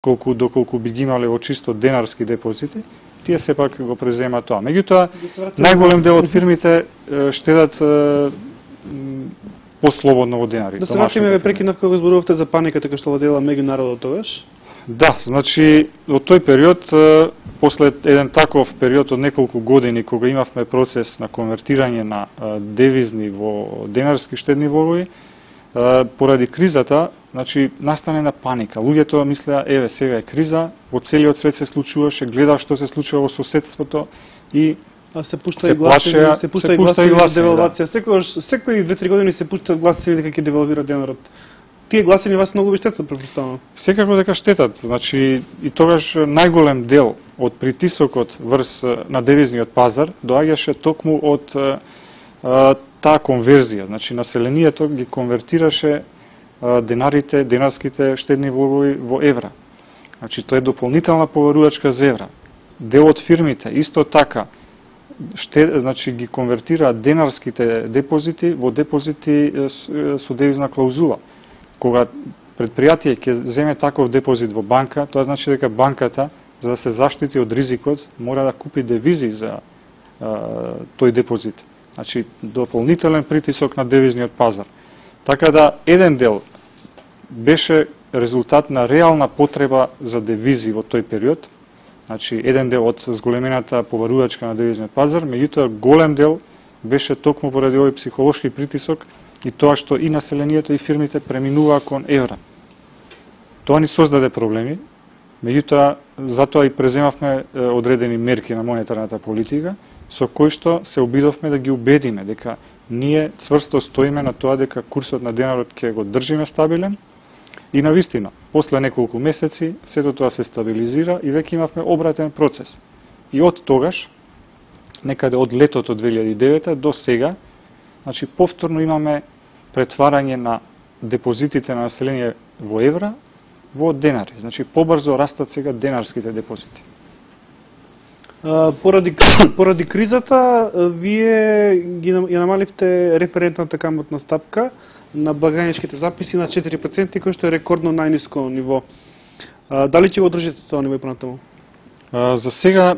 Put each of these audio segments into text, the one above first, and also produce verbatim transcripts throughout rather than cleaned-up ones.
колку доколку би ги имале во чисто денарски депозити, тие сепак го преземаат тоа. Меѓутоа, најголем дел од фирмите штедат послободно во денари. Да се вратиме ве прекинав кога зборувавте за паниката која што владеела меѓу народот тогаш. Да, значи во тој период, после еден таков период од неколку години кога имавме процес на конвертирање на девизни во денарски штедни влогови, поради кризата, значи настане на паника. Луѓето мислеа, еве сега е криза, во целиот свет се случуваше, гледа што се случува во соседството и А се пушта и гласови, се пушта и гласови за девалвација. Да. Секогаш, секои две-три години се пуштаат гласови дека ќе девалвира денарот. Тие гласини вас многу ви штетат, претпоставувам. Секако дека штетат. Значи и тогаш најголем дел од притисокот врз на девизниот пазар доаѓаше токму од а, таа конверзија. Значи населението ги конвертираше а, денарите, денарските штедни влогови во евра. Значи тоа е дополнителна поверувачка за евра. Дел од фирмите исто така Ште, значи ги конвертираат денарските депозити во депозити со девизна клаузула. Кога предпријатие ќе земе таков депозит во банка, тоа значи дека банката, за да се заштити од ризикот, мора да купи девизи за а, тој депозит. Значи дополнителен притисок на девизниот пазар. Така да еден дел беше резултат на реална потреба за девизи во тој период. Значи, еден дел од зголемената поверувачка на девизниот пазар, меѓутоа голем дел беше токму поради овој психолошки притисок и тоа што и населението и фирмите преминуваа кон евра. Тоа ни создаде проблеми, меѓутоа затоа и преземавме одредени мерки на монетарната политика, со кои што се обидовме да ги убедиме дека ние цврсто стоиме на тоа дека курсот на денарот ќе го држиме стабилен. И навистина, после неколку месеци, сето тоа се стабилизира и веќе имавме обратен процес. И од тогаш, некаде од летото две илјади и девета до сега, значи повторно имаме претварање на депозитите на население во евра во денари. Значи побрзо растат сега денарските депозити. А, поради, поради кризата, вие ги ја намаливте референтната каматна стапка на благajničkите записи на четири проценти, кој што е рекордно најниско ниво. А, дали ќе го одржите тоа ниво и понатаму? За сега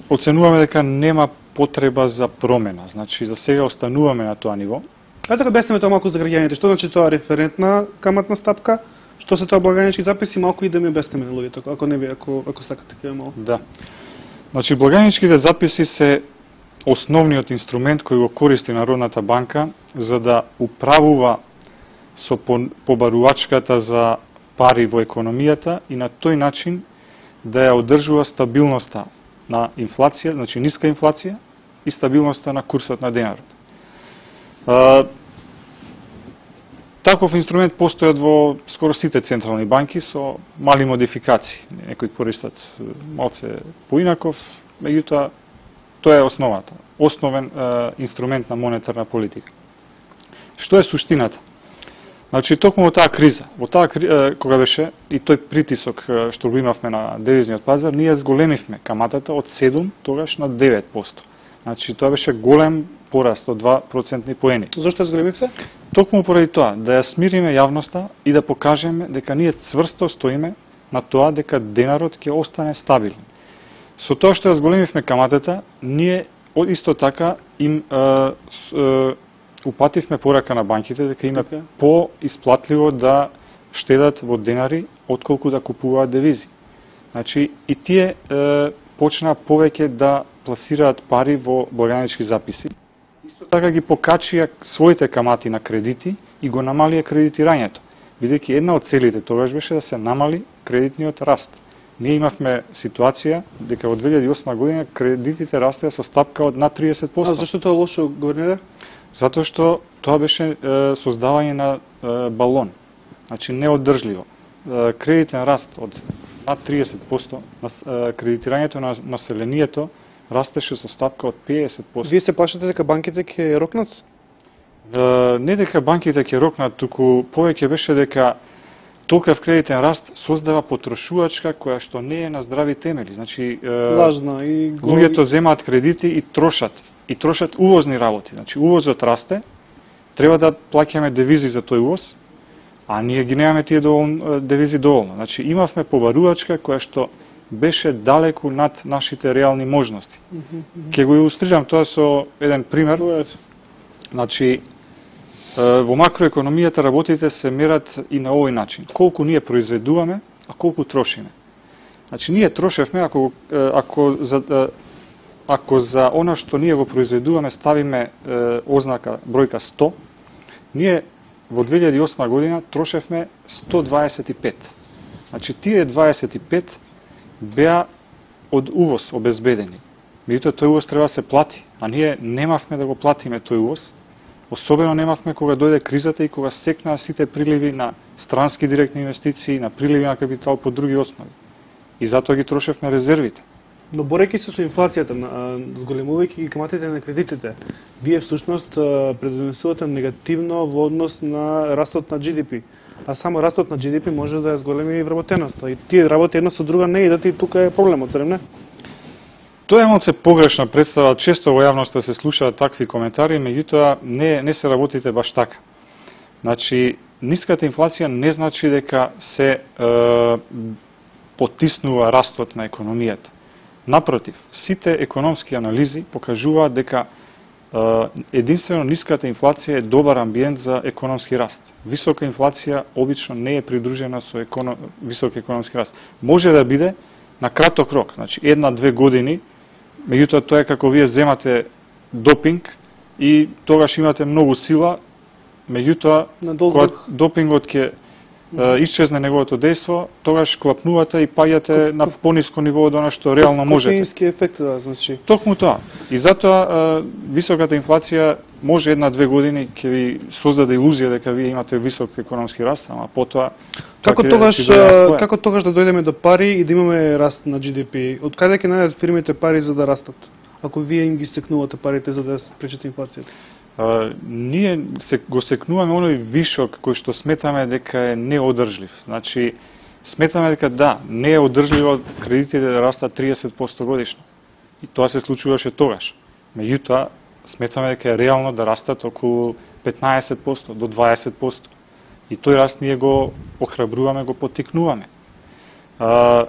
оценуваме дека нема потреба за промена. Значи за сега остануваме на тоа ниво. Ајде да објасниме тоа малку за граѓаните. Што значи тоа референтна каматна стапка? Што се тоа блagajnički записи? Малку и да ми објасниме на луѓето, ако не ви, ако ако сакате ќе малку. Да. Значи блagajničkите записи се основниот инструмент кој го користи Народната банка за да управува со побарувачката за пари во економијата и на тој начин да ја одржува стабилноста на инфлација, значи ниска инфлација и стабилноста на курсот на денарот. А, таков инструмент постојат во скоро сите централни банки со мали модификации. Некои користат малце поинаков, меѓутоа тоа е основата, основен е, инструмент на монетарна политика. Што е суштината? Значи, токму во таа криза, во таа е, кога беше и тој притисок е, што го имавме на девизниот пазар, ние зголемивме каматата од седум тогаш на девет проценти. Значи, тоа беше голем пораст од два процентни поени. Зошто зголемивте? Токму поради тоа, да ја смириме јавноста и да покажеме дека ние цврсто стоиме на тоа дека денарот ќе остане стабилен. Со тоа што ја зголемивме каматата, ние исто така им е, е, упативме порака на банките дека им е okay. по-исплатливо да штедат во денари отколку да купуваат девизи. Значи и тие е, почнаа повеќе да пласираат пари во блagajnički записи. Исто така ги покачија своите камати на кредити и го намалија кредитирањето, бидејќи една од целите тогаш беше да се намали кредитниот раст. Ние имавме ситуација дека во две илјади и осма година кредитите растеа со стапка од над триесет проценти. А зашто тоа лошо, гувернере? Затоа што тоа беше е, создавање на е, балон. Значи неоддржливо. Е, кредитен раст од над триесет проценти, на кредитирањето на населението растеше со стапка од педесет проценти. Вие се плашите дека банките ќе рокнат? Е, не дека банките ќе рокнат, туку повеќе беше дека толкав кредитен раст создава потрошувачка која што не е на здрави темели. Значи, е, лажна и луѓето земаат кредити и трошат. И трошат увозни работи. Значи, увозот расте, треба да плаќаме девизи за тој увоз, а ние ги немаме тие доволно, девизи доволно. Значи имавме побарувачка која што беше далеку над нашите реални можности. Ќе го илустрирам тоа со еден пример. Значи, во макроекономијата работите се мерат и на овој начин. Колку ние произведуваме, а колку трошиме. Значи, ние трошевме, ако, ако, за, ако за она што ние го произведуваме ставиме ознака бројка сто, ние во две илјади и осма година трошевме сто дваесет и пет. Значи, тие дваесет и пет беа од увоз обезбедени. Меѓутоа, тој увоз треба да се плати, а ние немавме да го платиме тој увоз. Особено немавме кога дојде кризата и кога секнаа сите приливи на странски директни инвестиции, на приливи на капитал по други основи. И затоа ги трошевме резервите. Но борејќи се со инфлацијата, зголемувајќи ги каматите на кредитите, вие всушност предонесувате негативно во однос на растот на Джи Ди Пи. А само растот на Джи Ди Пи може да ја зголеми вработеноста. И тие работи една со друга не идат и тука е проблемот, зарем не? Тоа е малце погрешна представа, често во јавноста се слушаат такви коментари, меѓутоа не, не се работите баш така. Значи, ниската инфлација не значи дека се е, потиснува растот на економијата. Напротив, сите економски анализи покажуваат дека е, единствено ниската инфлација е добар амбиент за економски раст. Висока инфлација обично не е придружена со економ... висок економски раст. Може да биде на краток рок, значи една-две години, меѓутоа тоа е како вие земате допинг и тогаш имате многу сила, меѓутоа кога допингот ќе исчезне неговото дејство, тогаш клапнувате и паѓате на пониско ниво од она што реално можете. Кофеински ефект, да, значи. Токму тоа. И затоа високата инфлација може една-две години ќе ви создаде илузија дека вие имате висок економски раст, ама потоа Како тогаш, како тогаш да дојдеме до пари и да имаме раст на Джи Ди Пи? Од каде ќе најдат фирмите пари за да растат? Ако вие им ги стекнувате парите за да спречите инфлацијата? Uh, ние се, го секнуваме оној вишок кој што сметаме дека е неодржлив. Значи, сметаме дека да, не е одржливо кредитите да растат триесет проценти годишно. И тоа се случуваше тогаш. Меѓутоа, сметаме дека е реално да растат околу петнаесет проценти до дваесет проценти. И тој раст ние го охрабруваме, го поттикнуваме. Uh,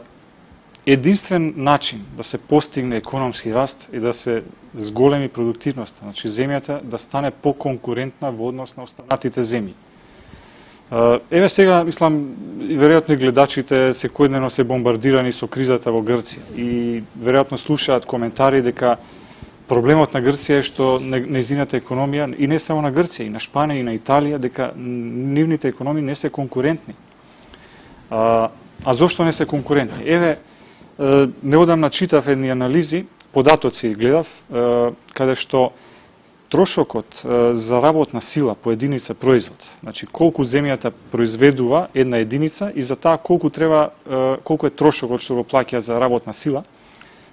Единствен начин да се постигне економски раст е да се зголеми продуктивноста, значи земјата да стане поконкурентна во однос на останатите земји. Еве сега, мислам, веројатно и гледачите секојдневно се бомбардирани со кризата во Грција и веројатно слушаат коментари дека проблемот на Грција е што нејзината економија, и не само на Грција, и на Шпанија, и на Италија, дека нивните економии не се конкурентни. А, а зошто не се конкурентни? Еве, неодамна читав едни анализи, податоци гледав, каде што трошокот за работна сила по единица производ, значи колку земјата произведува една единица и за таа колку треба, колку е трошокот што го плаќа за работна сила,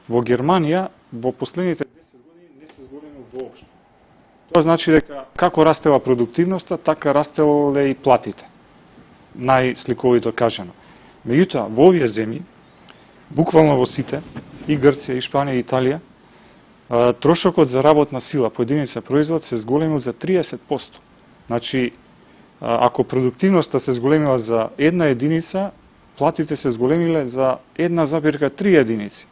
во Германија во последните десет години не се зголемил воопшто. Тоа значи дека како растела продуктивноста, така растеле и платите. Најсликовито кажано. Меѓутоа, во овие земји, буквално во сите, и Грција, и Шпанија, и Италија, трошокот за работна сила по единица производ се зголемил за триесет проценти. Значи, ако продуктивноста се зголемила за една единица, платите се зголемиле за една запирка три единици.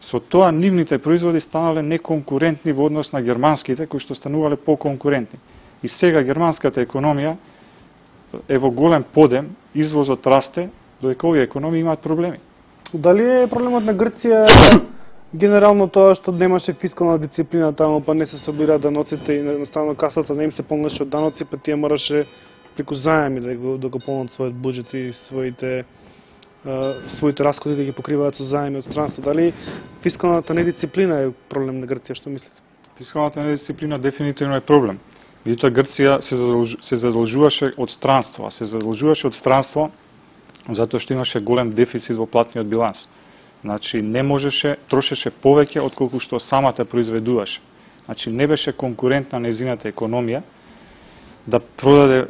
Со тоа нивните производи станале неконкурентни во однос на германските, кои што станувале поконкурентни. И сега германската економија е во голем подем, извозот расте, додека овие економии имаат проблеми. Дали е проблемот на Грција генерално тоа што немаше фискална дисциплина таму, па не се собира даноците и едноставно касата не им се полнеше од даноци, па тие мораше преку заеми да го, да го полнат својот буџет и своите своите расходи да ги покриваат со заеми од странство. Дали фискалната недисциплина е проблем на Грција, што мислите? Фискалната недисциплина дефинитивно е проблем. Меѓутоа Грција се, задолж... се задолжуваше од странство, а се задолжуваше од странство затоа што имаше голем дефицит во платниот биланс. Значи не можеше, трошеше повеќе од колку што самата произведуваше. Значи не беше конкурентна нејзината економија да продаде е,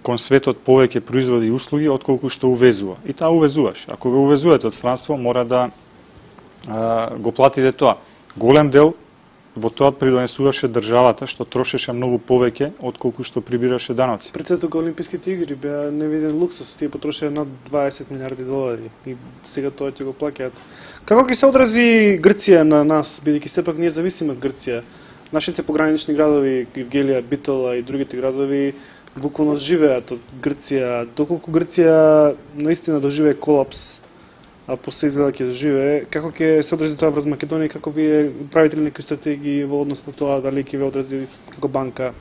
кон светот повеќе производи и услуги од колку што увезува. И таа увезуваше. Ако го увезувате од странство, мора да е, го платите тоа. Голем дел во тоа придонесуваше државата, што трошеше многу повеќе отколку што прибираше даноци. Пред тога Олимписките игри беа невиден луксус, тие потрошија над дваесет милиарди долари и сега тоа ќе го плаќаат. Како ќе се одрази Грција на нас, бидејќи сепак ние зависиме од Грција? Нашите погранични градови, Гевгелија, Битола и другите градови буквално живеат од Грција. Доколку Грција наистина доживее колапс, а после изгледа ќе доживее, како ќе се одрази тоа врз Македонија, како вие правите ли некои стратегии во однос на тоа, дали ќе ве одрази како банка,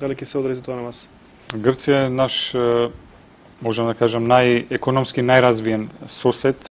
дали ќе се одрази тоа на вас? Грција е наш, можам да кажам, најекономски најразвиен сосед